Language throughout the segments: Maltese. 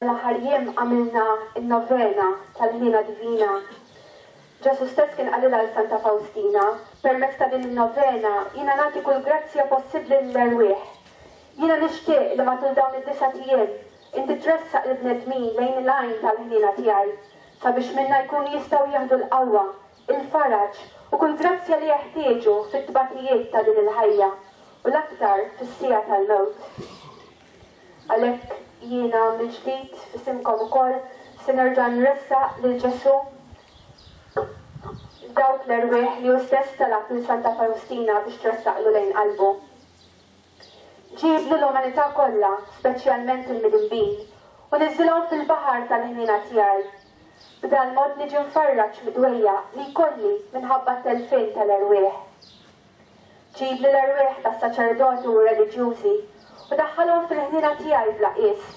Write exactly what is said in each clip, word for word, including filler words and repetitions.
L-aħħar jiem għamilna n-novena tal-Ħniena Divina. Ġesù stess kien qalilha lil Santa Fawstina, permezz ta' din in-novena jiena nagħti kull grazzja possibbli lill-erwieħ. Jiena nixtieq li matul dawn id-disat ijiem inti tressaq il-bnedmin lejn il-għajn tal-ħniena tiegħi sabiex minna jkunu jistgħu jieħdu l-qawwa, il-faraġ u kull grazzja li jeħtieġu fit-tbatijiet ta' din il-ħajja u l-aktar fis-siegħa tal-mewt. Għalhekk jiena mill-ġdid f'isimkom ukoll se nerġa' nressaq lil Ġesù dawk l-erwieħ li hu stess talab lil Santa Fawstina biex tressaqlu lejn qalbu. Ġib l-umanità kollha, speċjalment il-midinbin, u niżilhom fil-baħar tal-ħniena tiegħi. B'dal mod niġi mfarraġ mid-dwejjaq li jkolli minħabba t-telfien tal-erwieħ. Ġib l-erwieħ tas-saċerdoti u reliġjużi u daħħalhom fil-ħniena tiegħi bla qies.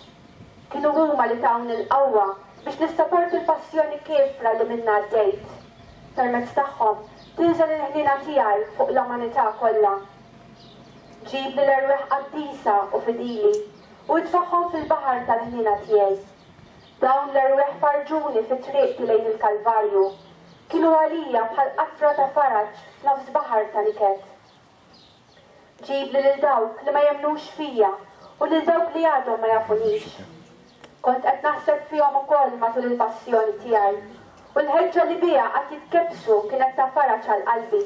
Kienu huma li tawni l-qawwa biex nissaporti l-passjoni kiefra li minna għaddejt. Permezz tagħhom tinżel il-ħniena tiegħi fuq l-umanità kollha. Ġib l-erwieħ qaddisa u fidili u itfagħhom fil-baħar tal-ħniena tiegħi. Dawn l-erwieħ farrġuni fi triqti lejn il-Kalvarju. Kienu għalija bħal qatra ta' faraġ f'nofs baħar ta' niket. Ġib li lil dawk li ma jemmnux fija u lil dawk li għadhom ma jafunix. Kont qed naħseb fihom ukoll matul il-passjoni tiegħi u l-ħeġġa li biha qatt jitkebbsu kienet ta' faraġ għal qalbi.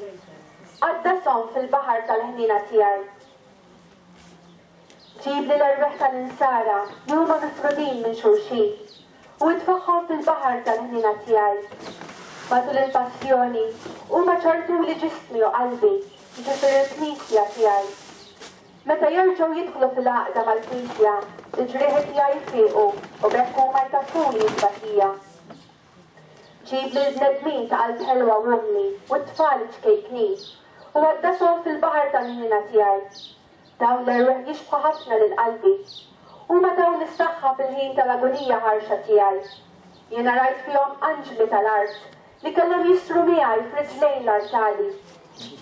Qaddashom fil-baħar tal-ħniena tiegħi. Ġib li l-erwieħ tal-insara li huma mifrudin minn xulxin u itfagħhom fil-baħar tal-ħniena tiegħi. Matul il-passjoni huma ċarrtuli ġismi u qalbi, jiġifieri l-Knisja tiegħi. Meta jerġgħu jidħlu fil-għaqda mal-Knisja, il-ġrieħi tiegħi jfiqu u b'hekk huma jtaffuli t-tbatija. Ġib li l-bnedmin ta' qalb ħelwa u umli u t-tfal ċkejknin u għaddashom fil-baħar tal-ħniena tiegħi. Dawn l-erwieħ jixbħu ħafna lil qalbi. Huma tawni s-saħħa fil-ħin tal-agonija ħarxa tiegħi. Jiena rajt fihom anġli tal-art li kellhom jistru miegħi f'riġlejn l-artali.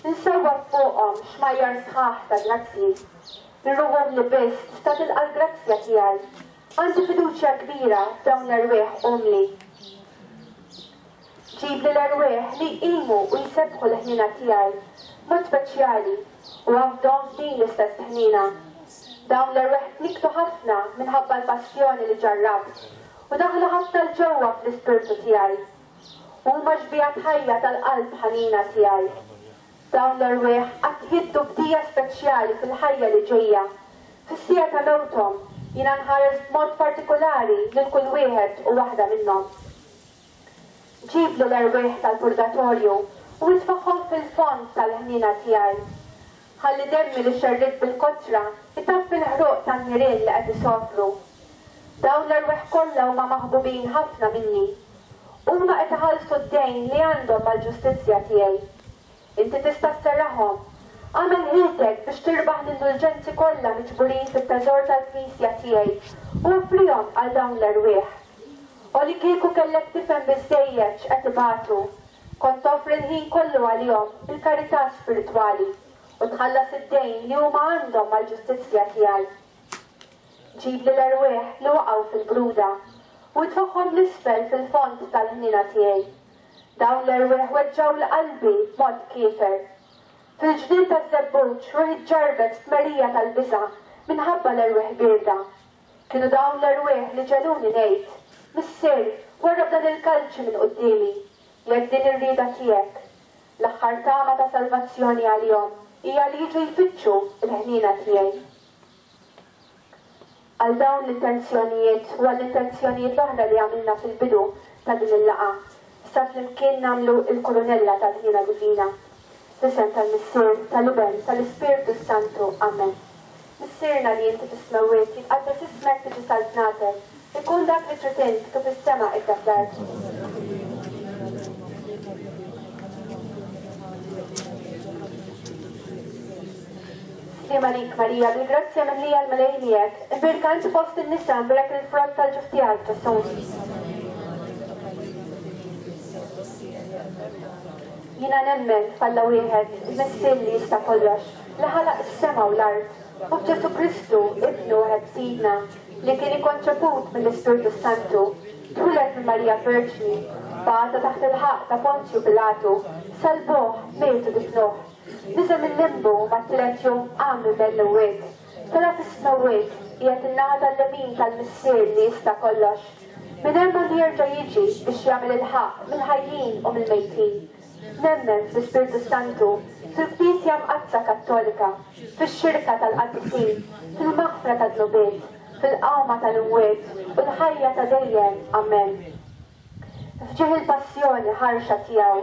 Insewwab fuqhom xmajjar sħaħ ta' grazzji. Ir-ruħhom li biss tista' tilqa' l-grazzja tiegħi. Għandi fiduċja kbira f'dawn l-erwieħ umli. Ġib li l-erwieħ li jqimu u jsebbħu l-ħniena tiegħi mod speċjali u għafdhom f'din l-istess ħniena. Dawn l-erwieħ tnikktu ħafna minħabba l-passjoni li ġarrabt u daħlu ħafna 'l ġewwa fl-ispirtu tiegħi. Huma xbihat ħajja tal-qalb ħanina tiegħi. Dawn l-erwieħ qatt jiddu bdija speċjali fil-ħajja li ġejja. Fis-siegħa ta' mewthom jiena nħares b'mod partikolari lil kull wieħed u waħda minnhom. Ġib li l-erwieħ tal-purgatorju u itfagħhom fil-fond tal-ħniena tiegħi. Ħalli demmi li xerridt bil-kotra itaffi l-ħruq tan-nirien li qed isofru. Dawn l-erwieħ kollha huma maħbubin ħafna minni. Huma qed iħallsu d-dejn li għandhom mal-ġustizzja tiegħi. Inti tista' sserraħhom. Agħmel ħiltek biex tirbaħ l-indulġenzi kollha miġburin fit-teżor tal-Knisja tiegħi u offrihom għal dawn l-erwieħ. U li kieku kellek tifhem biżżejjed x'qed ibatu, kont toffri l-ħin kollu għalihom il-karità spiritwali u tħallas id-dejn li huma għandhom mal-ġustizzja tiegħi. Ġib li l-erwieħ li waqgħu fil-bruda u itfagħhom 'l isfel fil-fond tal-ħniena tiegħi. Dawn l-erwieħ weġġgħu 'l qalbi b'mod kiefer. Fil-ġnien taż-żebbuġ ruħi ġarrbet stmerrija tal-biża' minħabba l-erwieħ bierda. Kienu dawn l-erwieħ li ġegħluni ngħid, Missier, warrab dan il-kalċi minn quddiemi, jekk din ir-rieda tiegħek. L-aħħar tama ta' salvazzjoni għalihom hija li jiġu jfittxu l-ħniena tiegħi. Għal dawn l-intenzjonijiet u għall-intenzjonijiet l-oħra li għamilna fil-bidu ta' din il-laqgħa, issa flimkien nagħmlu il-kurunella tal-ħniena divina. F'isem tal-Missier, tal-Iben, tal-Ispirtu Santu. Amen. Missierna li inti fis-smewwiet, jitqaddes ismek, tiġi saltnatek, ikun dak li trid int kif is-sema hekk fl-art. Sliem għalik Marija, bil-grazzja mimlija l-Mulej miegħek, imbierka inti fost in-nisa, imbierek il-frott tal-ġuf tiegħek, Ġesù. Jiena nemmen f'Alla wieħed, il-Missier li jista' kollox, li ħalaq is-sema u l-art, u f'Ġesù Kristu, Ibnu wieħed Sidna, li kien ikkonċeput mill-Ispirtu Santu, twieled minn Marija Verġni, bata taħt il-ħaqq ta' Ponzju Pilatu, salbuh, miet u difnuh. Niżel mil-limbu u mat-tielet jum qam minn bejn l-imwiet. Tela' fis-smewwiet, qiegħed in-naħa tal-lemin tal-Missier li jista' kollox. Minn hemm għandu jerġa' jiġi biex jagħmel il-ħaqq mill-ħajjin u mill-mejtin. Nemmen fl-Ispirtu Santu, fil-Knisja Mqaddsa Kattolika, fix-xirka tal-qaddisin, fil-maħfra tad-dnubiet, fil-qawma tal-imwiet u l-ħajja ta' dejjem. Amen. F'ġieħ il-passjoni ħarxa tiegħu.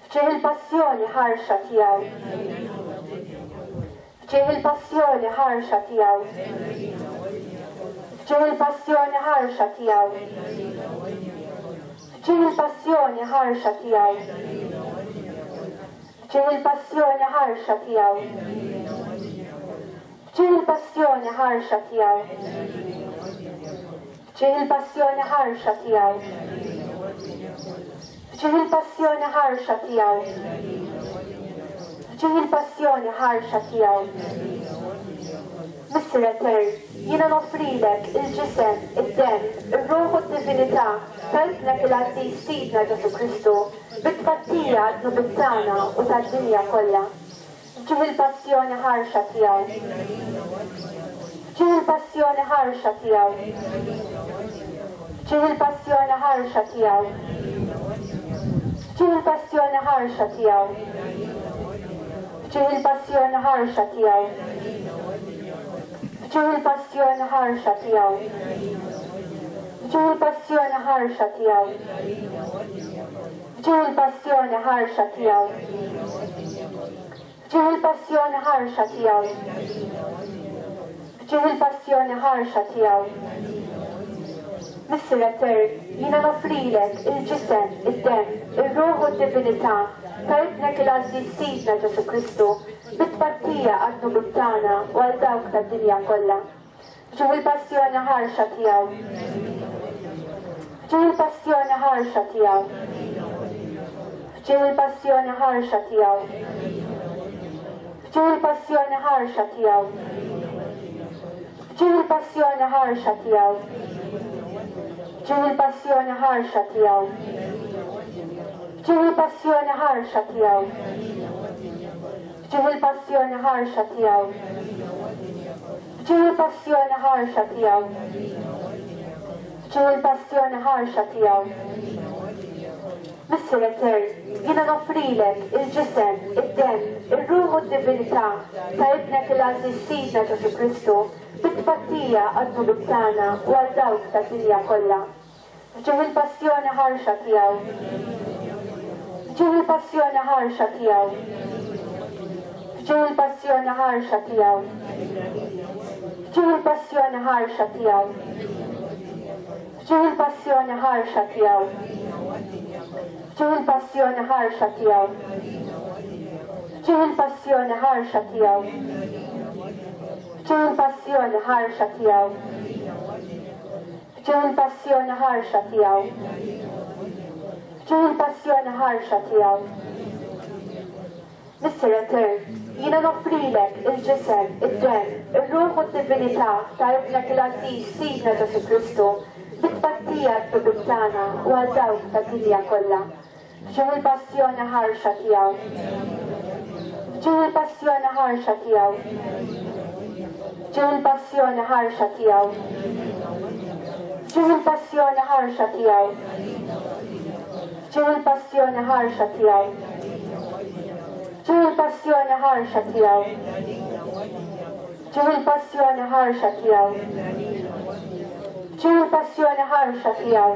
F'ġieħ il-passjoni ħarxa tiegħu. F'ġieħ il-passjoni ħarxa tiegħu. F'ġieħ il-passjoni ħarxa tiegħu. F'ġieħ il-passjoni ħarxa tiegħu. F'ġieħ il-passjoni ħarxa tiegħu. F'ġieħ il-passjoni ħarxa tiegħu. F'ġieħ il-passjoni ħarxa tiegħu. F'ġieħ il-passjoni ħarxa tiegħu. F'ġieħ il-passjoni ħarxa tiegħu. Missier Etern, jiena noffrilek il-ġisem, id-demm, ir-ruħ u d-divinità ta' Ibnek il-Għażiż Sidna Ġesù Kristu, bit-tpattija għad-dnubiet tagħna u tad-dinja kollha. F'ġieħ il-passjoni ħarxa tiegħu. F'ġieħ il-passjoni ħarxa tiegħu. F'ġieħ il-passjoni ħarxa tiegħu. F'ġieħ il-passjoni ħarxa tiegħu. F'ġieħ il-passjoni ħarxa tiegħu. F'ġieħ il-passjoni ħarxa tiegħu. F'ġieħ il-passjoni ħarxa tiegħu. F'ġieħ il-passjoni ħarxa tiegħu. F'ġieħ il-passjoni ħarxa tiegħu. F'ġieħ il-passjoni ħarxa tiegħu. Missier Etern, jiena noffrilek il-ġisem, id-demm, ir-ruħ u d-divinità ta' Ibnek il-Għażiż Sidna Ġesù Kristu, bit-tpattija għad-dnubiet tagħna u għal dawk tad-dinja kollha. F'ġieħ il-passjoni ħarxa tiegħu. F'ġieħ il-passjoni ħarxa tiegħu. F'ġieħ il-passjoni ħarxa tiegħu. F'ġieħ il-passjoni ħarxa tiegħu. F'ġieħ il-passjoni ħarxa tiegħu. F'ġieħ il-passjoni ħarxa tiegħu. F'ġieħ il-passjoni ħarxa tiegħu. F'ġieħ il-passjoni ħarxa tiegħu. F'ġieħ il-passjoni ħarxa tiegħu. F'ġieħ il-passjoni ħarxa tiegħu. Missier Etern, jiena noffrilek il-ġisem, id-demm, ir-ruħ u d-divinità ta' Ibnek il-Għażiż Sidna Ġesù Kristu, bit-tpattija għad-dnubiet tagħna u għal dawk tad-dinja kollha. F'ġieħ il-passjoni ħarxa tiegħu. F'ġieħ il-passjoni ħarxa tiegħu. F'ġieħ il-passjoni ħarxa tiegħu. F'ġieħ il-passjoni ħarxa tiegħu. F'ġieħ il-passjoni ħarxa tiegħu. F'ġieħ il-passjoni ħarxa tiegħu. F'ġieħ il-passjoni ħarxa tiegħu. F'ġieħ il-passjoni ħarxa tiegħu. F'ġieħ il-passjoni ħarxa tiegħu. F'ġieħ il-passjoni ħarxa tiegħu. Missier Etern, jiena noffrilek il-ġisem, id-demm, ir-ruħ u d-divinità ta' Ibnek il-Għażiż Sidna Ġesù Kristu, bit-tpattija għad-dnubiet tagħna u għal dawk tad-dinja kollha. F'ġieħ il-passjoni ħarxa tiegħu. F'ġieħ il-passjoni ħarxa tiegħu. F'ġieħ il-passjoni ħarxa tiegħu. F'ġieħ il-passjoni ħarxa tiegħu. F'ġieħ il-passjoni ħarxa tiegħu. F'ġieħ il-passjoni ħarxa tiegħu. F'ġieħ il-passjoni ħarxa tiegħu. F'ġieħ il-passjoni ħarxa tiegħu.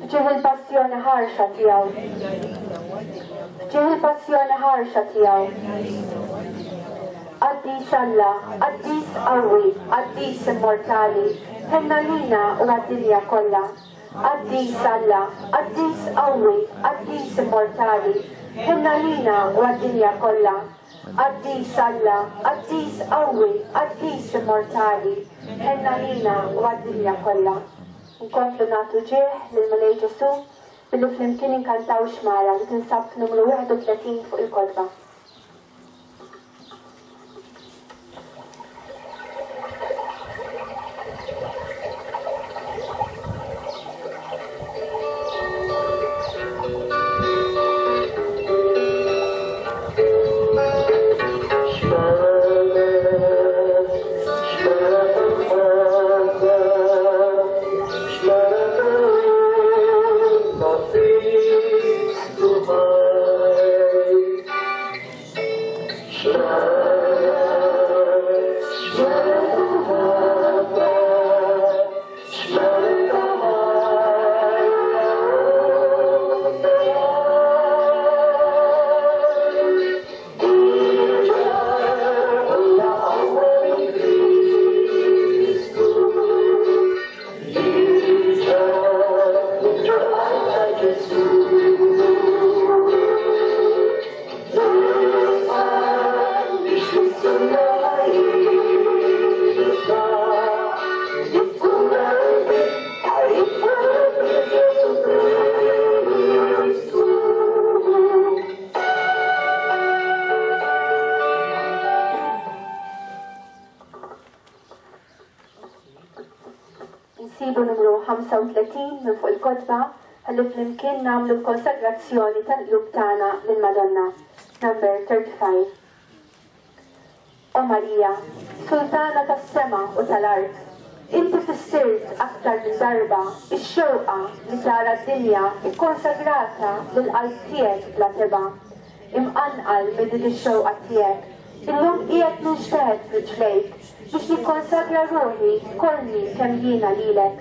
F'ġieħ il-passjoni ħarxa tiegħu. F'ġieħ il-passjoni ħarxa tiegħu. Qaddis Alla, qaddis qawwi, qaddis immortali, ħenna lina u għad-dinja kollha. Qaddis Alla, qaddis qawwi, qaddis immortali, ħenna lina u għad-dinja kollha. Qaddis Alla, qaddis qawwi, qaddis immortali, ħenna lina u għad-dinja kollha. Nkomplu nagħtu ġieħ lill-Mulej Ġesù billi flimkien inkantaw xmara li tinsab f'numru wieħed u tletin fuq il-kotba. Nsibu numru ħamsa u tletin minn fuq il-kotba ħalli flimkien nagħmlu l-konsagrazzjoni tal-qlub tagħna lill-Madonna. Number thirty-five. O Marija, Sultana tas-sema u tal-art, inti fissirt aktar minn darba ix-xewqa li tara d-dinja ikkonsagrata lill-qalb tiegħek bla tebgħa. Imqanqal minn din ix-xewqa tiegħek, illum qiegħed ninxteħet f'riġlejk biex nikkonsagra ruħi kollni kemm jiena lilek.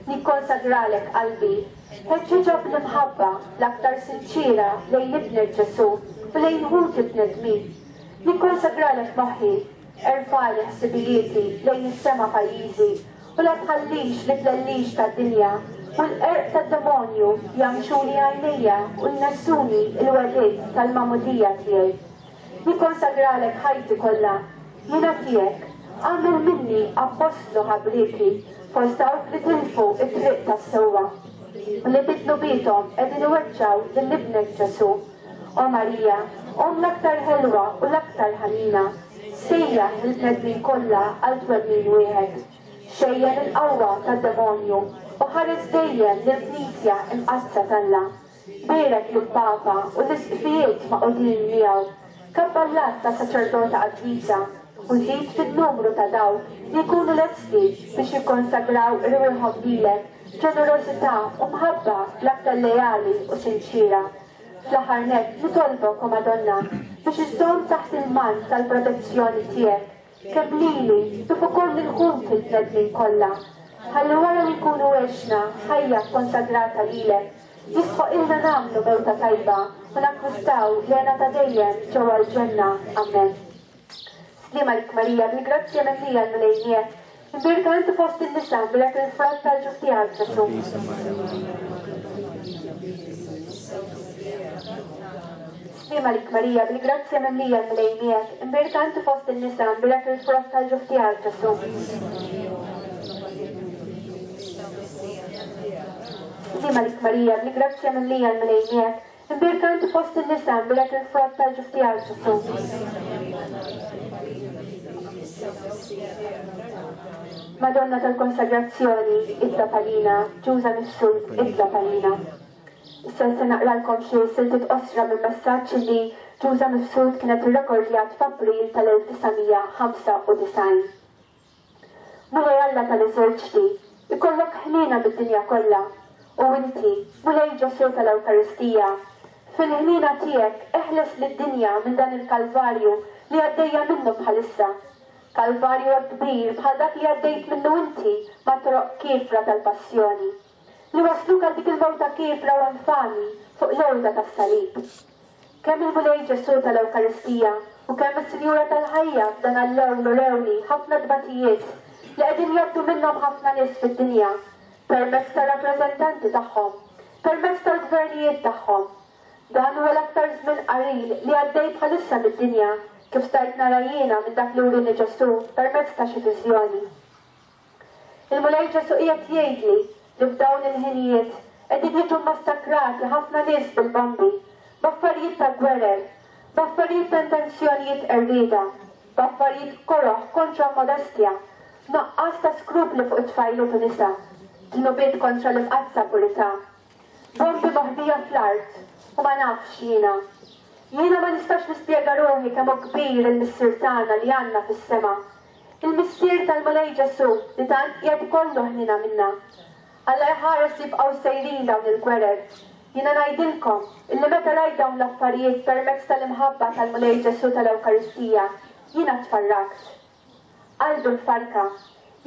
Nikkonsagralek qalbi, ħeġġiġha bl-imħabba l-aktar sinċira lejn ibnek Ġesù u lejn ħuti bnedmin. Nikkonsagralek moħħi, erfali ħsibijieti lejn is-sema pajjiżi u la tħallix li tlellix tad-dinja u l-qerq tad-demonju jagħmxuni għajnejja u jnessuni l-wegħdiet tal-magħmudija tiegħi. Nikkonsagralek ħajti kollha, jiena tiegħek, agħmel minni appostlu ħabrieki fost dawk li tilfu t-triq tas-sewwa u li bi dnubiethom qegħdin iweġġgħu lil ibnek Ġesù. O Marija, Omm l-aktar ħelwa u l-aktar ħanina, sejjaħ lill-bnedmin kollha għal twemmin wieħed. Xejjen il-qawwa tad-demonju u ħares dejjem lill-Knisja imqaddsa t'Alla. Bierek lill-Papa u l-isqfijiet maqudin miegħu, kabballat ta' saċerdota qaddisa, u żid fin-numru ta' dawk li jkunu lesti biex jikkonsagraw irwieħhom lilek b'ġenerożità u mħabba l-aktar leali u sinċira. Fl-aħħar nett nitolbok, o Madonna, biex iżżomm taħt il-mant tal-protezzjoni tiegħek, kemm lili kif ukoll lil ħuti l-bnedmin kollha. Ħalli wara li nkunu għexna ħajja kkonsagrata lilek, jistħoqilna nagħmlu mewta tajba u nakkwistaw l-hena ta' dejjem ġewwa l-ġenna. Amen. Sliem għalik Marija, bil-grazzja mimlija l-Mulej miegħek. Imbierka inti fost in-nisa, imbierek il-frott tal-ġuf tiegħek Ġesù. Sliem għalik Marija, bil-grazzja mimlija l-Mulej miegħek. Imbierka inti fost in-nisa, imbierek il-frott tal-ġuf tiegħek Ġesù. Sliem għalik Marija, bil-grazzja mimlija l-Mulej miegħek. Imbierka inti fost in-nisa, imbierek il-frott tal-ġuf tiegħek Ġesù. Madonna tal-Konsagrazzjoni, itlob għalina. Ġuża Mifsud, itlob għalina. Issa se naqralkom xi siltiet qosra minn messaġġ li Ġuża Mifsud kienet irrekordjat f'April tal-elf disa' mija ħamsa u disgħin. Mulej Alla tal-eżerċti, ikollok ħniena mid-dinja kollha, u inti, Mulej Ġesù tal-Ewkaristija, fil-ħniena tiegħek eħles lid-dinja minn dan il-Kalvarju li għaddejja minnu bħalissa. Kalvarju hekk kbir bħal dak li għaddejt minnu inti ma' toroq kiefra tal-passjoni, li wasluk għal dik il-mewta kiefra u infami fuq l-għorda tas-salib. Kemm il-Mulej Ġesù tal-Ewkaristija u kemm is-Sinjura tal-ħajja f'dan għall-ewl u rewni ħafna tbatijiet li qegħdin jgħaddu minnhom ħafna nies fid-dinja, permezz tar-rappreżentanti tagħhom, permezz tal-gvernijiet tagħhom. Dan huwa l-aktar żmien qalil li għaddej bħalissa mid-dinja, kif stajt nara jiena minn dak li wrini Ġesù permezz ta' xi viżjoni. Il-Mulej Ġesù qiegħed jgħidli li f'dawn il-ħinijiet qegħdin jiġu massakrati ħafna nies bil-bombi, b'affarijiet ta' gwerer, b'affarijiet ta' intenzjonijiet qerrieda, b'affarijiet koroh kontra modestja, nuqqas ta' skrupli fuq it-tfajliet u nisa, dnubiet kontra l-imqaddsa purità, bombi moħbija fl-art u ma nafx jiena. Jiena ma nistax nispjega ruħi kemm hu kbir il-Missier tagħna li għandna fis-sema. Il-Missier tal-Mulej Ġesù li tant qiegħed ikollu ħniena minna. Alla jħares jibqgħu sejrin dawn il-gwerer. Jiena ngħidilkom illi meta rajt dawn l-affarijiet permezz tal-imħabba tal-Mulej Ġesù tal-Ewkaristija, jiena tfarrakt. Qalbi mfarka.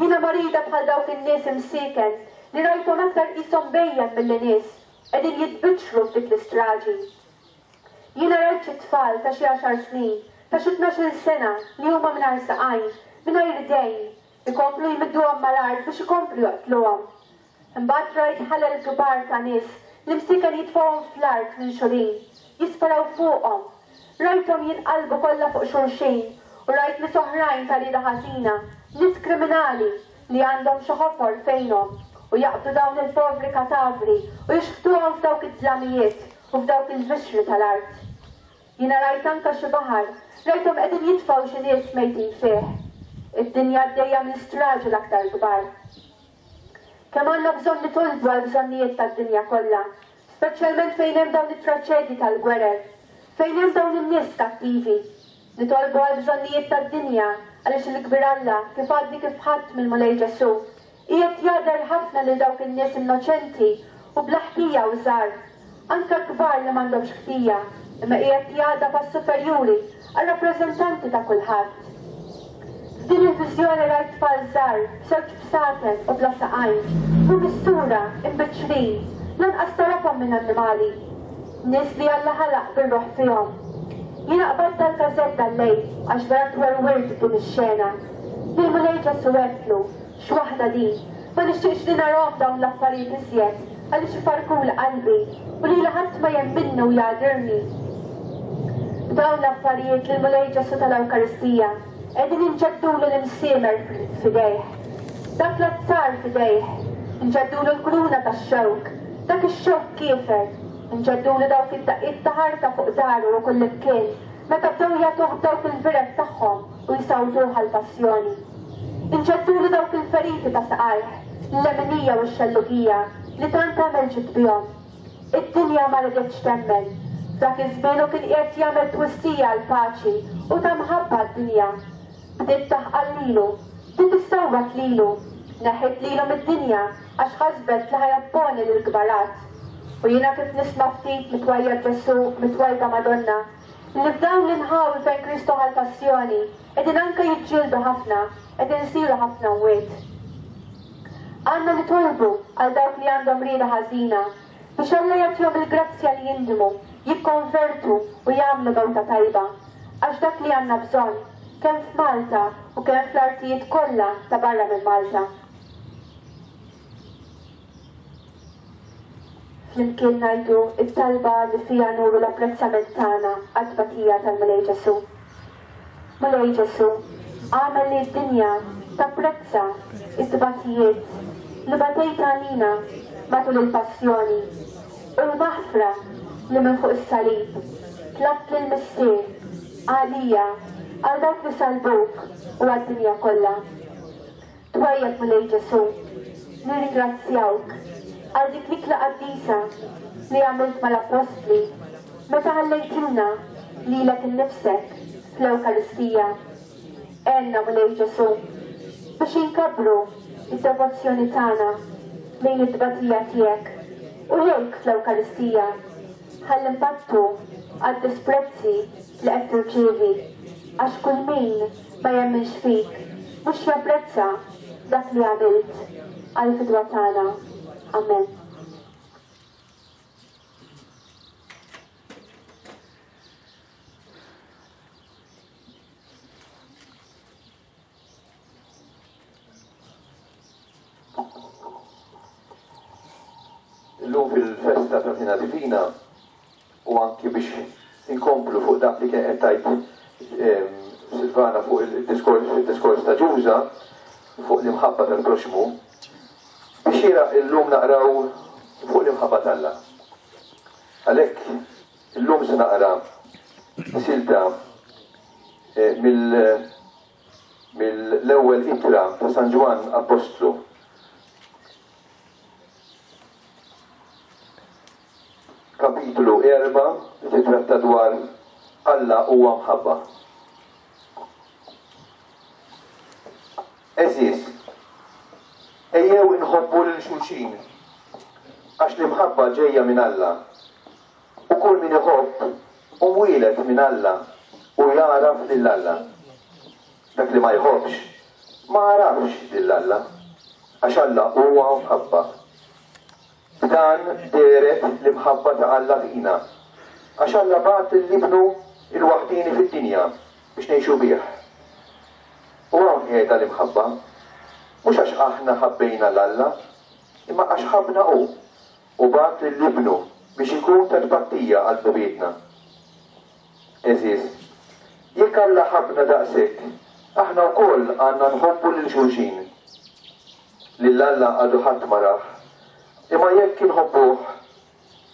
Jiena marida bħal dawk in-nies imsieken li rajthom aktar qishom bejjem milli nies qegħdin jitbiċċru f'dik l-istraġi. Jiena rajt xi tfal ta' xi għaxar snin, ta' xi tnax-il sena li huma mingħajr saqajn, mingħajr idejn, ikomplu jmidduhom mal-art biex ikomplu joqtluhom. Imbagħad rajt ħalel kbar ta' nies li msieken jitfgħuhom fl-art minn xulin, jisparaw fuqhom. Rajthom jinqalbu kollha fuq xulxin u rajt nies oħrajn ta' rieda ħażina, nies kriminali li għandhom xi ħofor fejnhom u jaqbdu dawn il-povri katavri u jixħtuhom f'dawk id-dlamijiet u f'dawk il-vixri tal-art. Jiena rajt anke xi baħar, rajthom qegħdin jitfgħu xi nies mejtin fih. Id-dinja għaddejja minn straġi l-aktar kbar. Kemm għandna bżonn nitolbu għall-bżonnijiet tad-dinja kollha, speċjalment fejn hemm dawn it-traċedji tal-gwerer, fejn hemm dawn in-nies kattivi. Nitolbu għall-bżonnijiet tad-dinja għaliex il-kbir Alla, kif għadni kif ħadd mill-Mulej Ġesù, qiegħed jagħder ħafna lil dawk in-nies innoċenti u bla ħtija u żgħar, anke kbar li m'għandhomx ħtija, imma qiegħed jagħdab għas-superjuri, għar-rappreżentanti ta' kulħadd. F'din il-viżjoni rajt tfal żgħar b'żewġ bsaten u bla saqajn, u mis-sura imbiċċrin, lanqas tarafhom minn annimali. Nies li Alla ħalaq bir-ruħ fihom. Jiena qbadt dal-każett dal-lejl għax vera twerwirt din ix-xena. Lill-Mulej Ġesù għedtlu, x'waħda din, ma nixtieqx li narahom dawn l-affarijiet iżjed għaliex ifarkuli qalbi u lili ħadd ma jemminni u jagħdirni. B'dawn l-affarijiet lill-Mulej Ġesù tal-Ewkaristija qegħdin inġeddulu l-imsiemer f'idejh, dak l-azzar f'idejh, inġeddulu l-kruna tax-xewk, dak ix-xewk kiefer, inġeddulu dawk id-daqqiet ta' ħarta fuq daru u kullimkien meta bdew jagħtuh dawk il-viret tagħhom u jsawtuh għall-passjoni. Inġeddulu dawk il-feriti ta' saqajh, l-leminija u x-xellugija li tant għamel ġid bihom. Id-dinja ma riditx temmen. F'dak iż-żmien hu kien qiegħed jagħmel twissija għall-paċi u ta' mħabba għad-dinja. Bdiet taħqal lilu, bdiet issawwat lilu, neħħiet lilu mid-dinja għax ħasbet li ħajopponi lill-kbarat. U jiena kif nisma' ftit mitwajja Ġesù, mitwajba Madonna, li f'dawn l-inħawi fejn Kristu ħa l-passjoni, qegħdin anke jiġġieldu ħafna, qegħdin isiru ħafna mwiet. Għandna nitolbu għal dawk li għandhom rieda ħażina biex Alla jagħtihom il-grazzja li jindmu, jikkonvertu u jagħmlu mewta tajba. Għax dak li għandna bżonn, kemm f'Malta u kemm fl-artijiet kollha ta' barra minn Malta. Flimkien ngħidu it-talba li fiha nuru l-apprezzament tagħna għat-tbatija tal-Mulej Ġesù. Mulej Ġesù, agħmel li d-dinja tapprezza it-tbatijiet li batejt għalina matul il-passjoni u l-maħfra li minn fuq is-salib tlabt lill-Missier għalija, għal dawk li salbuk u għad-dinja kollha. Twajjeb Mulej Ġesù, nirringrazzjawk għal dik l-ikla qaddisa li għamilt mal-Appostli meta ħallejtilna lilek innifsek fl-Ewkaristija. Għenna Mulej Ġesù biex inkabbru id-devozzjoni tagħna lejn it-tbatija tiegħek u lejk fl-Ewkaristija ħalli nbattu għad-disprezzi li qed tirċievi, għax kull min ma jemminx fik mhux japprezza dak li għamilt għall-fidwa tagħna. Amen. Illum fil-festa ta' Tina Divina u anki biex inkomplu fuq dak li kien qed tgħid Silvana fuq il-diskors ta' Ġuża fuq l-imħabba tal-proxmu, biex jiera illum naqraw fuq l-imħabba t'Alla. Għalhekk illum se naqra silta mill-ewwel ittra ta' San Ġwann Appostlu. Kapitlu erba' li titratta dwar Alla huwa mħabba. Eżis, ejjew inħobbu lil xulxin, għax l-imħabba ġejja minn Alla. U kull min iħobb hu mwieled minn Alla u jagħraf lil Alla. Dak li ma jħobbx ma għarafx lil Alla, għax Alla huwa mħabba. B'dan dehret l-imħabba ta' Alla fina, għax Alla bagħat lil Ibnu il-waħdini fid-dinja biex ngħixu bih. U hawn qiegħda l-imħabba, mhux għax aħna ħabbejna l-Alla, imma għax ħabbna hu u bagħat lil Ibnu biex ikun ta' tbattija għal dnubietna. Eżis, jekk Alla ħabbna daqshekk, aħna wkoll għandna nħobbu lil xulxin. Lil Alla għadu ħadd ma rah, imma jekk inħobbuh,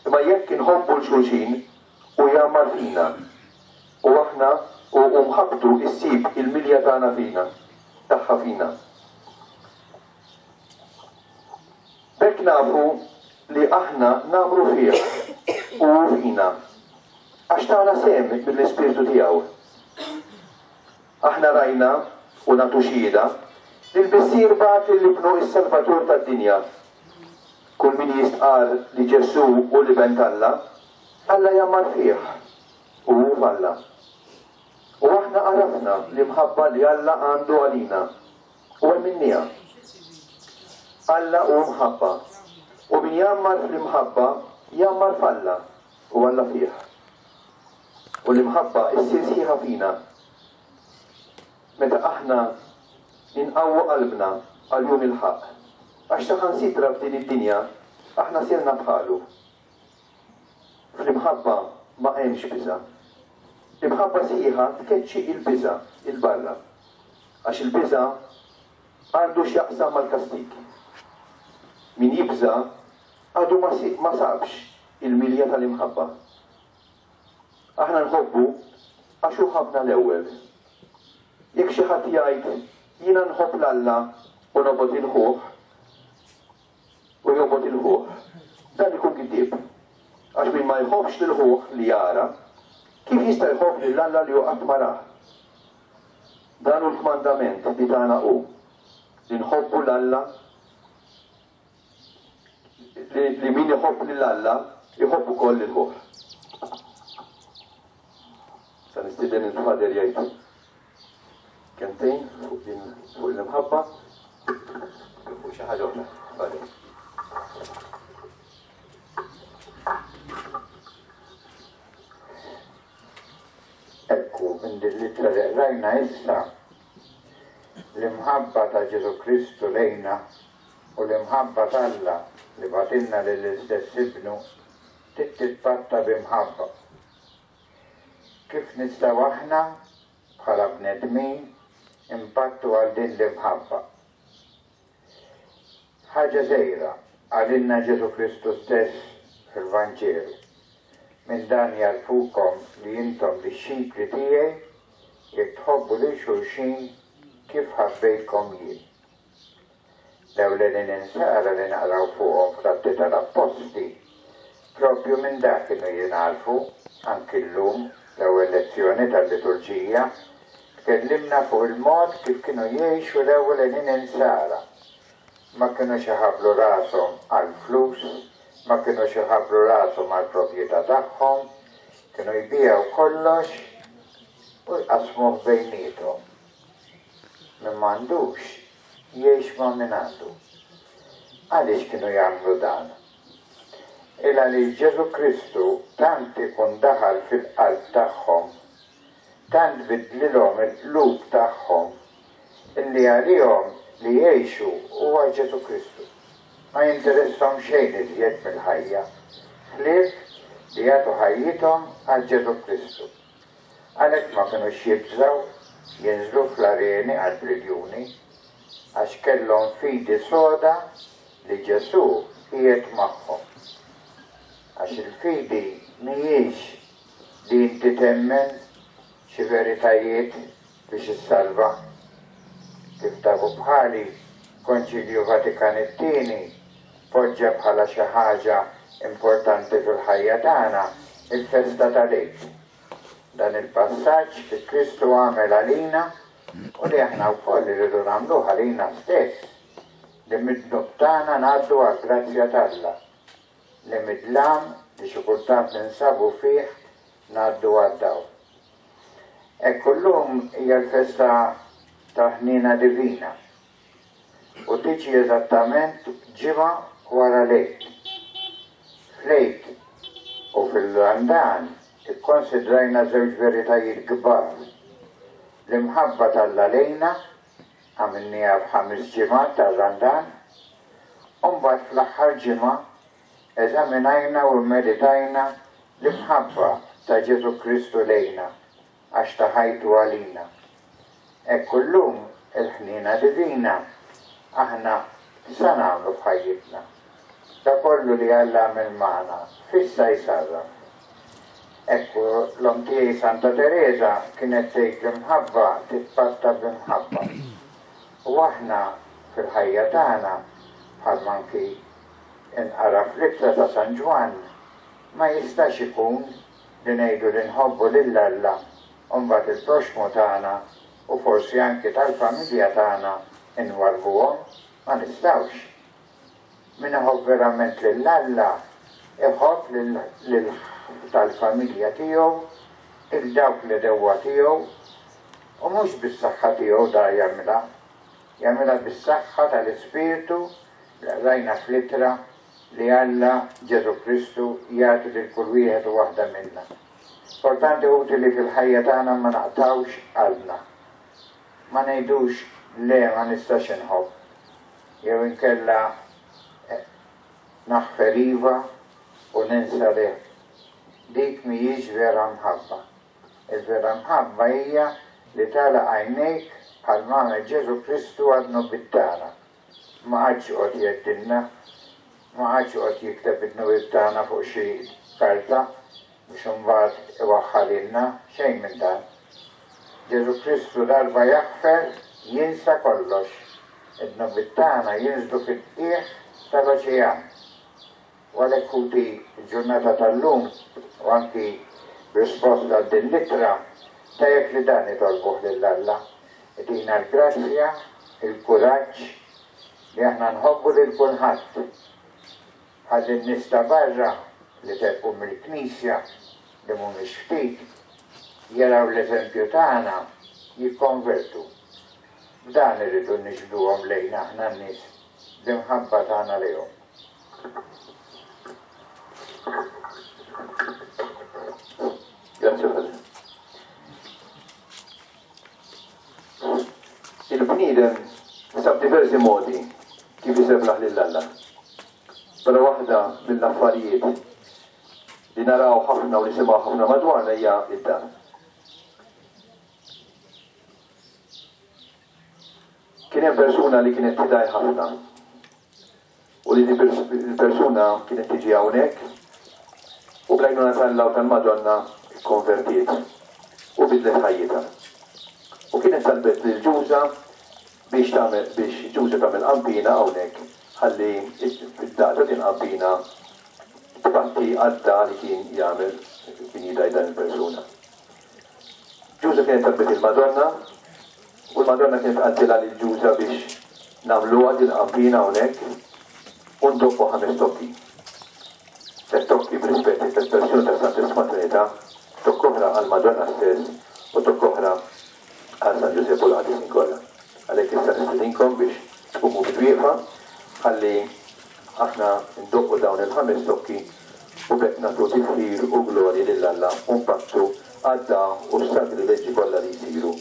imma jekk inħobbu l xulxin, u jagħmar fina. U aħna u mħabbtu issib il-milja tagħna fina, tagħha fina. Hekk nafu li aħna nagħmru fih u hu fina, għax tana sehem mill-Ispirtu tiegħu. Aħna rajna u nagħtu xhieda li l-Missier bagħat lil Ibnu s-Salvatur tad-dinja. Kull min jistqarr li Ġesù hu l-Iben t'Alla, Alla jgħammar fih u hu f'Alla. U aħna għarafna l-imħabba li Alla għandu għalina u emminniha. Alla hu mħabba, u min jgħammar fl-imħabba jgħammar f'Alla u Alla fih. U l-imħabba issir sħiħa fina meta aħna inqawwu qalbna għal jum il-ħaqq, għax saħansitra f'din id-dinja aħna sirna bħalu. Fl-imħabba ma hemmx biża'. L-imħabba sħiħa tkeċċi il-biża' 'il barra, għax il-biża' għandu x'jaqsam mal-kastig. Min jibża' għadu ma sabx il-milja tal-imħabba. Aħna nħobbu għax hu ħabbna l-ewwel. Jekk xi ħadd jgħid jiena nħobb 'l Alla u nobgħod il-ħuh u jobgħod il-ħuh, dan ikun giddieb. Għax min ma jħobbx lil ħuh li jara, kif jista' jħobb lil Alla li hu qatt ma rah? Dan hu l-kmandament li tana hu, li nħobbu 'l Alla, li min iħobb lil Alla jħobb ukoll lil ħuh. Sa nistieden il-Father jgħid kelmtejn fuq din fuq l-imħabba fuq xi ħaġa oħra. Father. Ekku, minn din l-ittra li qrajna issa, l-imħabba ta' Ġesù Kristu lejna u l-imħabba t'Alla li bagħtilna lill-istess Ibnu trid titpatta b'imħabba. Kif nistgħu aħna bħala bnedmin impattu għal din l-imħabba? Ħaġa żgħira qalilna Ġesù Kristu stess fil-Vanġelu. Minn dan jagħrfukom li intom dixxipli tiegħi jekk tħobbu lil xulxin kif ħabbejtkom jien. L-ewlenin insara li naqraw fuqhom fl-Atti tal-Appostli propju minn dak kienu jingħarfu. Anki llum l-ewwel lezzjoni tal-liturġija tkellimna fuq il-mod kif kienu jgħixu l-ewlenin insara. Ma kinux iħabblu rashom għall-flus, ma kinux iħabblu rashom għall-proprjetà tagħhom, kienu jbiegħu kollox u jqassmuh bejniethom. Min m'għandux jgħix ma' min għandu. Għaliex kienu jagħmlu dan? Il għaliex Ġesù Kristu tant ikun daħal fil-qalb tagħhom, tant bidlilhom il-qlub tagħhom, illi għalihom li jgħixu huwa Ġesù Kristu. Ma jinteressahom xejn iżjed mill-ħajja, ħlief li jagħtu ħajjithom għal Ġesù Kristu. Għalhekk ma kinux jibżgħu jinżlu fl-areni qalb l-iljuni, għax kellhom fidi soda li Ġesù qiegħed magħhom. Għax il-fidi mhijiex li inti temmen xi veritajiet biex issalva. Kif tafu bħali, Konċilju Vatikan it-tieni poġġa bħala xi ħaġa importanti fil-ħajja tagħna il-festa tal-Għid. Dan il-passaġġ li Kristu għamel għalina u li aħna wkoll irridu nagħmluh għalina stess, li mid-dnub tagħna ngħaddu għall-grazzja t'Alla, li mid-dlam li xi kultant ninsabu fih ngħaddu għad-dawl. Ekku llum hija l-festa tal-ħniena divina u tiġi eżattament ġimgħa wara l-Għid. Fl-Għid u fil-Randan ikkonsidrajna żewġ veritajiet kbar. L-imħabba t'Alla lejna għamilniha f'ħames ġimgħat tar-Randan, u mbagħad fl-aħħar ġimgħa eżaminajna u mmeditajna l-imħabba ta' Ġesù Kristu lejna għax ta ħajtu għalina. Ekku llum il-ħniena divina aħna sa nagħmlu f'ħajjitna. Da kollu li Alla għamel magħna fissa jsarraf. Ekku l-omm tiegħi Santa Teresa kienet tgħid l-imħabba titpatta b'imħabba. U aħna fil-ħajja tagħna bħal anki inqara fl-ittra ta' San Ġwann, ma jistax ikun li ngħidu li nħobbu lil Alla u mbagħad il-proxmu tagħna u forsi anki tal-familja tagħna nwarbuhom, ma nistgħux. Min iħobb verament lil Alla iħobb lil tal-familja tiegħu, il dawk li dewwa tiegħu, u mhux bis-saħħa tiegħu da jagħmilha, jagħmilha bis-saħħa tal-Ispirtu li rajna fl-ittra li Alla Ġesu Kristu jagħti lil kull wieħed u waħda minna. Importanti ħuti li fil-ħajja tagħna ma naqtawx qalbna. Ma ngħidux le ma nistax inħobb, jew inkella naħfer iva u ninsa le. Dik mhijiex vera mħabba. Il-vera mħabba hija li tagħlaq għajnejk bħal m'għamel Ġesu Kristu għad-dnubiet tagħna. Ma qagħadx joqgħod jgħeddilna, ma qagħadx joqgħod jikteb id-dnubiet tagħna fuq xi karta biex imbagħad iwaħħalilna, xejn minn dan. Ġesu Kristu darba jaħfer, jinsa kollox. Id-dnubiet tagħna jinżlu fil-qiegħ tal-oċean. U għalhekk ħuti l-ġurnata tal-lum u anki b'risposta għal din l-ittra, tajjeb li dan nitolbuh lil Alla. Itina l-grazzja, il-kuraġġ li aħna nħobbu lil kulħadd. Ħalli n-nies ta' barra li telqu mill-Knisja li mhumiex ftit, jaraw l-eżempju tagħna jikkonvertu. B'dan irridu niġbduhom lejna aħna n-nies bl-imħabba tagħna lejhom. Grazie Padre. Il-bniedem sab diversi modi kif iseblaħ lil Alla. Però waħda mill-affarijiet li naraw ħafna u nisimgħu ħafna madwarna hija id-dar. Kien hemm persuna li kienet tidaj ħafna u li il-persuna kienet tiġi hawnhekk u bl-għajnuna tal-Alla u tal-Madonna konvertiet u bidlet ħajjitha. U kienet talbet lil Ġuża biex tagħmel biex Ġuża tagħmel qampina hawnhekk ħalli id-daqta din qampina tbatti għadda li kien jagħmel kien jidaj dan il-persuna. Ġuża kienet talbet il-Madonna u l-Madonna kienet qaltilha lil Ġuża biex nagħmluha din qampina hawnhekk u ndoqqu ħames tokki. Tliet tokki b'rispett it-tliet persuni tas-Santissima Trinità, tokk oħra għall-Madonna stess u tokk oħra għal San Ġużepp u l-qadisin kollha. Għalhekk issa nistedinkom biex tqumu bil-wieqfa ħalli aħna ndoqqu dawn il-ħames tokki u b'hekk nagħtu tifħir u glorji lil Alla u npattu għad-dagħa u s-sagrileġġi kollha li jsiru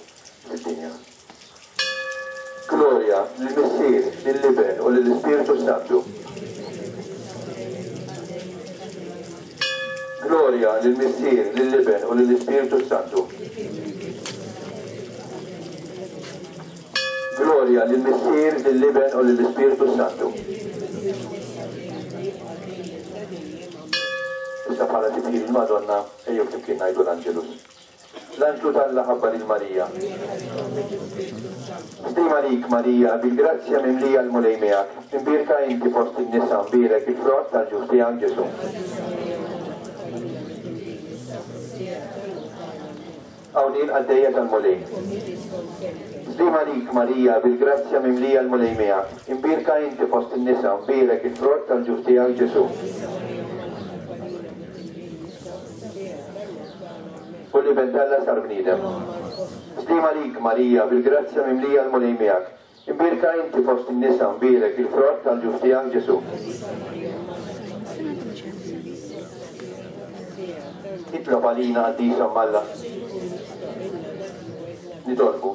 fid-dinja. Gloria lill-Missier, lill-Iben u lill-Ispirtu Santu. Gloria lill-Missier, lill-Iben u lill-Ispirtu Santu. Gloria lill-Missier, lill-Iben u lill-Ispirtu Santu. Issa bħala tifħir il-Madonna, ejjew flimkien ngħidu l-Anġelus. L-Anġlu t'Alla ħabbar lil Marija. Stima lik Marija, bil-grazzja mimlija l-Mulej miegħek. Imbierka inti fost in-nisa, mbierek il-frott tal-ġuf tiegħek Ġesu. Hawn il-qaddejja tal-Mulej. Stima lik Marija, bil-grazzja mimlija l-Mulej miegħek. Imbierka inti fost in-nisa, mbierek il-frott tal-ġuf tiegħek Ġesu. U l-Iben t'Alla sar bniedem. Stima lik Marija, bil-grazzja mimlija l-Mulej miegħek. Imbierka inti fost in-nisa, mbierek il-frott tal-ġuf tiegħek Ġesu. Itlob għalina qaddisa Alla. Nitolbu.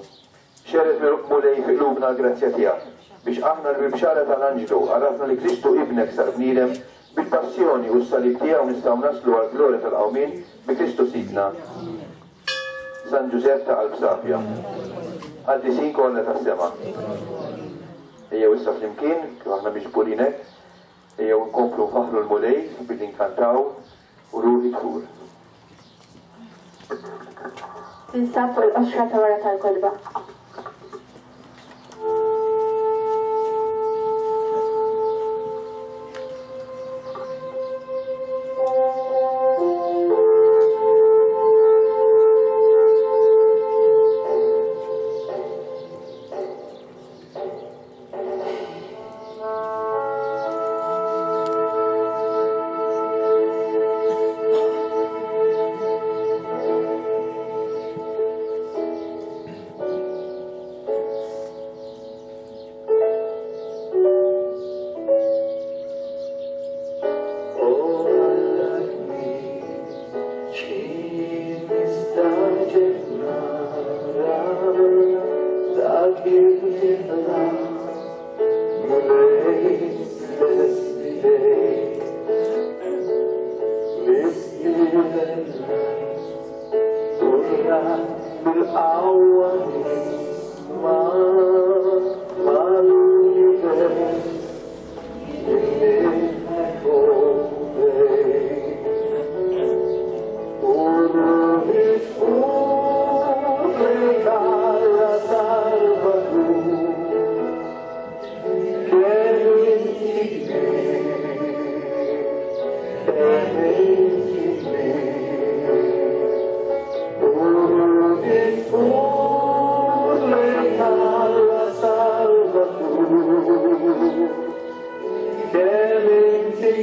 Xerred Mulej fi qlubna l-grazzja tiegħek biex aħna l-bibxara tal-Anġlu għarafna li Kristu ibnek sar bniedem bil-passjoni u s-salib tiegħu nistgħu naslu għall-glorja tal-qawmien bi Kristu Sidna. San Ġużepp ta' qalb safja. Qaddisin kollha tas-sema. Ejjew issa flimkien, kif aħna miġburin hekk, ejjew nkomplu nfaħħru l-Mulej billi nkantaw u ruħi tfur. Tinsab fuq il-qoxra ta' wara tal-kolba.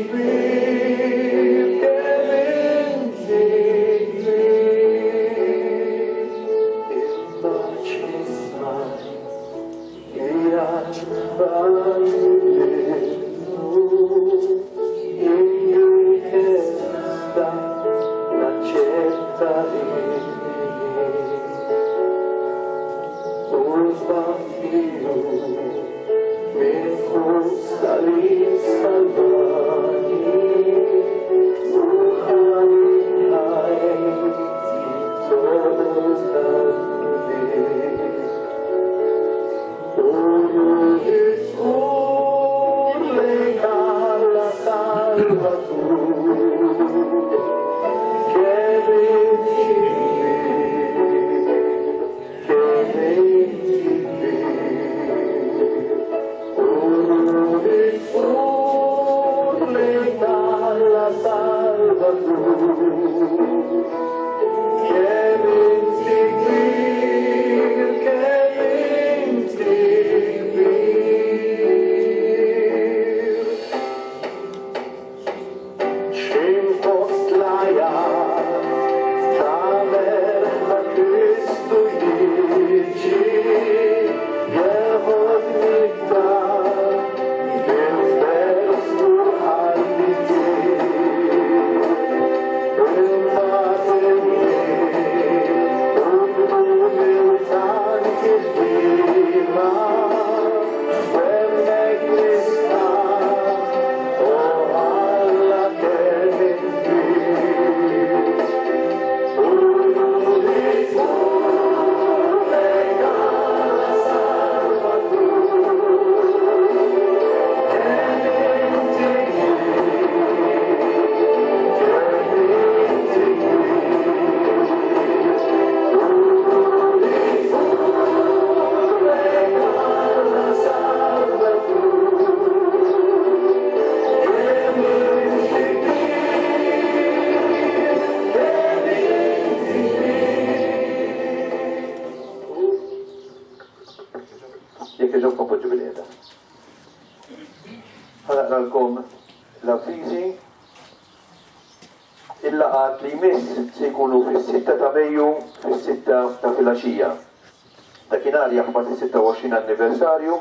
kbir, kemm inti kbir. Imma x'ħin smajt li Alla ibnu ir-rikjesta naċċetta il-milied. U tbatiju minn fuq salib salvani u ħalli ħajti toqgħod tal-kbir. U ruħi tfur lejn Alla Salvatur, kemm inti kbir, kemm inti kbir. U ruħi tfur lejn Alla Salvatur, kemm inti kbir, kemm inti kbir. X'ħin fost l-għajat ta' merħla Kristu jiġi, jeħodni d-dar bil-ferħ u qalbi ttir. Imbagħad il-lejl u b'umiltà tiħdima, hemmhekk nistqarr, o Alla kemm int kbir. U ruħi tfur lejn Alla Salvatur, kemm inti kbir, kemm inti kbir. U ruħi tfur lejn Alla Salvatur, kemm inti kbir, kemm inti kbir. Jekk jogħġobkom poġġu bilqiegħda. Ħa naqralkom l-avviżi. Il-laqgħat li jmiss se jkunu fis-sitta ta' Mejju fis-sitta ta' filgħaxija. Dakinhar jaħbat is-sitta u għoxrin anniversarju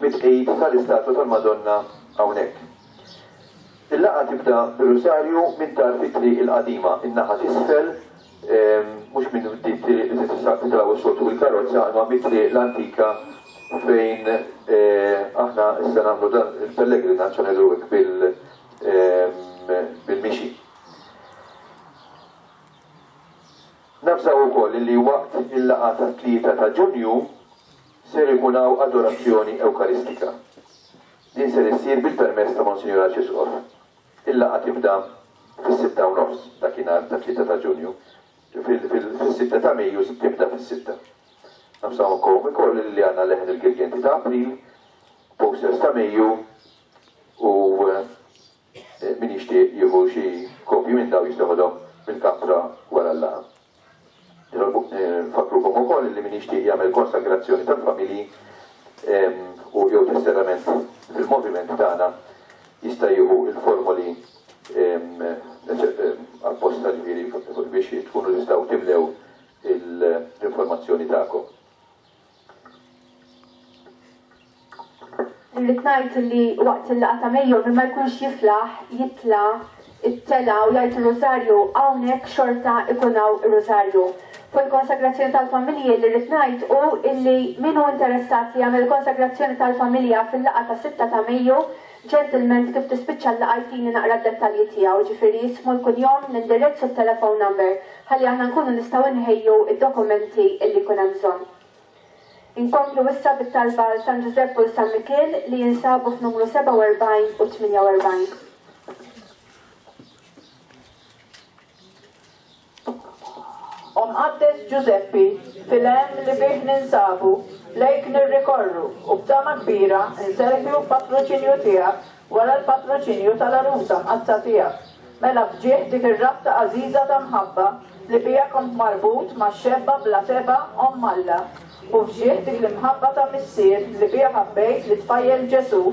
mit-tqegħid tal-istatwa tal-Madonna hawnhekk. Il-laqgħa tibda bir-Rusarju minn tarf it-triq il-qadima, in-naħa t'isfel, ehm, mhux minn dik triq li titilgħu s-soltu bil-karozza, imma mit-triq l-antika fejn eh, aħna issa nagħmlu dan il-pellegrinaġġ ngħidu hekk bil- ehm, bil-mixi. Nafżaw ukoll li waqt il-laqgħa tat-tlieta ta' Ġunju ser ikun hawn adorazzjoni Ewkaristika. Din ser issir bil-permess ta' Monsinjur Arċisqof. Il-laqgħa tibda fis-sitta u nofs dakinhar ta' tlieta ta' Ġunju. Fil-, fil-, fis-sitta ta' Mejju tibda fis-sitta. Nafżaw ukoll ukoll li għandna leħen il-Girgenti ta' April, posters ta' Mejju u, eh, min jixtieq jieħu xi kopji minn daw jista' joħodhom mill-kamra wara l-laqgħa. Nfakkrukom ukoll li min jixtieq jagħmel konsagrazzjoni tal-familji, ehm, u jew tesserament fil-moviment tagħna jista' jieħu il-formoli, ehm, apposta ġifieri biex tkunu tistgħu timlew l-informazzjoni tagħkom. Irrid ngħid li waqt il-laqgħa ta' Mejju min ma jkunx jiflaħ jitla' it-tela u jgħid ir-Rużarju hawnhekk xorta ikun hawn ir-Rużarju. Fuq il-konsagrazzjoni tal-familji li rrid ngħid hu illi min hu interessat li jagħmel konsagrazzjoni tal-familja fil-laqgħa ta' sitta ta' Mejju, ġentilment kif tispiċċa l-laqgħa jtini naqra d-dettalji tiegħu, ġifieri jismu l-kunjom, l-indirizz u t-telephone number, ħalli aħna nkunu nistgħu nħejju id-dokumenti illi jkun hemm bżonn. Inkomplu issa bit-talba għal San Ġużepp u San Mikiel li jinsabu f'numru sebgħa u erbgħin u tmienja u erbgħin. O Mqaddes Ġużeppi, fil-hemm li fih ninsabu, lejk nirrikorru u b'tama kbira nserħu patroċinju tiegħek wara l-patroċinju tal-għarusa mqaddsa tiegħek. Mela fġieħ dik ir-rabta għażiża ta' mħabba li bija kont marbut ma' xebba bla teba omm Alla, u fġieħ dik l-imħabba ta' missier li bija ħabbejt li tfajjel Ġesu,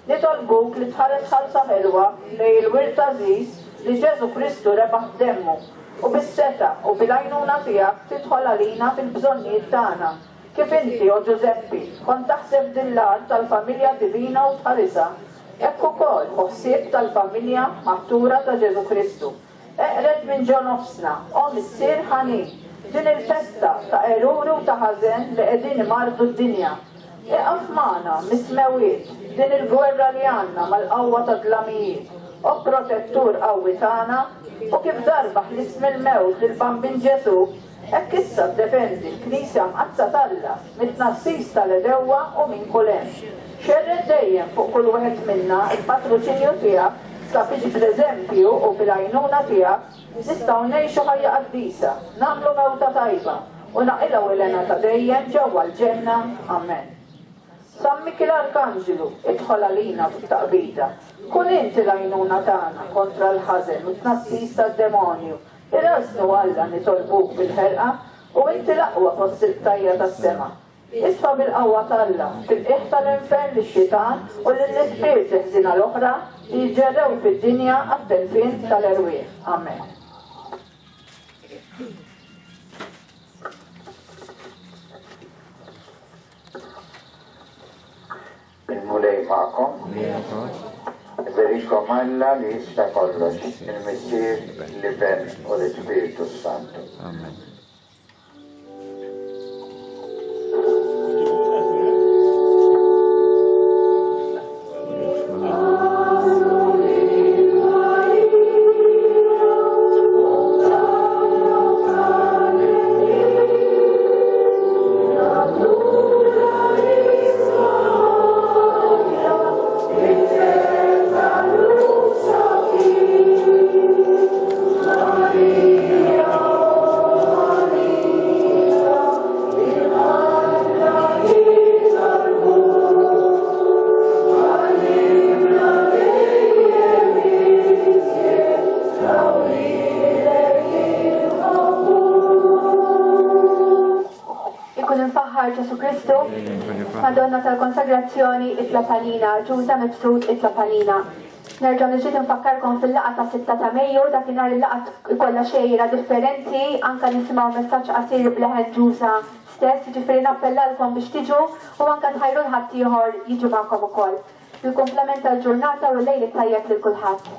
Nitolbuk li tħares ħalsa ħelwa lejn il-wirt għażiż li Ġesù Kristu rebaħ b'demmu, u bis-setgħa u bil-għajnuna tiegħek tidħol għalina fil-bżonnijiet tagħna. Kif inti, o Ġużeppi, kont taħseb din l-art tal-familja divina u tħarisha, hekk ukoll ħu ħsieb tal-familja maħtura ta' Ġesù Kristu. Eqred minn ġo nofsna, o Missier ħanin, din il-pesta ta' eruri u ta' ħażen li qegħdin imardu d-dinja. Iqaf magħna mis-smewiet din il-gwerra li għandna mal-qawwa ta' dlamijiet, o protettur qawwi tagħna, u kif darba ħlist mill-mewt lil Bambin Ġesù, hekk issa ddefendi l-Knisja Mqaddsa t'Alla mit-tnassis tal-għedewwa u minn kull hemm. Xerred dejjem fuq kull wieħed minna l-patroċinju tiegħek sabiex bl-eżempju u bil-għajnuna tiegħek nistgħu ngħixu ħajja qaddisa, nagħmlu mewta tajba u naqilgħu l-hena ta' dejjem ġewwa l-ġenna. Amen. San Mikiel Arkanġlu, idħol għalina fit-taqbida. Kun inti l-għajnuna tagħna kontra l-ħażen u t-tnassis tad-demonju. Irażnu Alla nitolbuk bil-ħerqa u inti l-aqwa fost il-qtajja tas-sema. Isfa bil-qawwa t'Alla fil-qiegħ tal-infern lix-xitan u lill-ispirti ħżiena l-oħra li jiġġerrew fid-dinja għat-telfien tal-erwieħ. Amen. Il-Mulej magħkom. Iberikom Alla li jista' kollox, il-Missier, l-Iben u l-Ispirtu Santu. Amen. Madonna tal-Konsagrazzjoni itlob għalina, Ġuża Mifsud itlob għalina. Nerġa' nixtieq nfakkarkom fil-laqgħa ta' sitta ta' Mejju, dakinhar il-laqgħa ikollha xejra differenti, anke nisimgħu messaġġ qasir b'leħen Ġuża stess, jiġifieri nappellalkom biex tiġu u anke tħajru l-ħaddieħor jiġu magħkom ukoll. Il-kumplament tal-ġurnata u l-lejl it-tajjeb lil kulħadd.